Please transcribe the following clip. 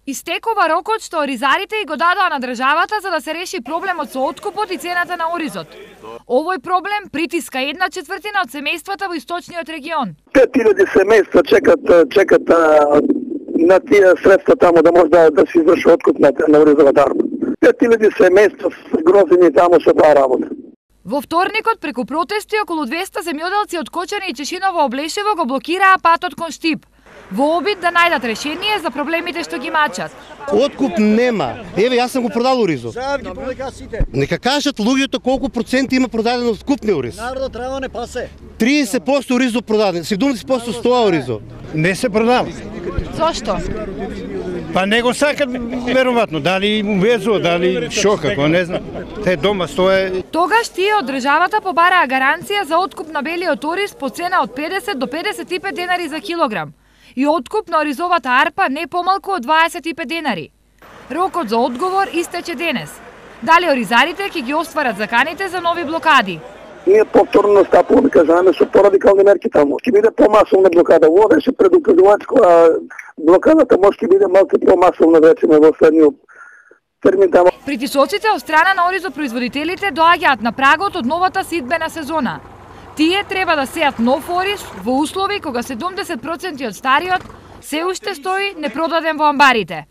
Истекува рокот што оризарите и го дадоа на државата за да се реши проблемот со откупот и цената на оризот. Овој проблем притиска 1/4 од семејствата во источниот регион. 5000 семејства чекат на тие средства таму да може да се изврши откуп на оризовата арпа. 5000 семејства грозени таму со таа работа. Во вторникот преку протести околу 200 земјоделци од Кочани и Чешиново Облешево го блокираа патот кон Штип, во обид да најдат решение за проблемите што ги мачат. Откуп нема. Еве, јас сум го продал оризот. Нека кажат луѓето колку проценти има продадено откупни ориз. Народот треба не пасе. 30% оризот продаден, 70% стоа оризот. Не се продава. Зошто? Па не го сакат веројатно, дали му везува, дали шо како, не знам. Те дома стоje. Тогаш тие од државата побараа гаранција за откуп на белиот ориз по цена од 50 до 55 денари за килограм и откуп на оризовата арпа не помалку од 25 денари. Рокот за одговор истече денес. Дали оризарите ќе ги остварат заканите за нови блокади? Ние повторно стапуваме, кажаме, со порадикални мерки таму. Ќе биде помасовна блокада. Ово беше предупредувачко, а блокадата може ќе биде малку помасовна, речеме, во следниот термин таму. Притисоците од страна на оризопроизводителите доаѓаат на прагот од новата сидбена сезона. Тие треба да сеат нов ориз во услови кога 70% од стариот се уште стои непродаден во амбарите.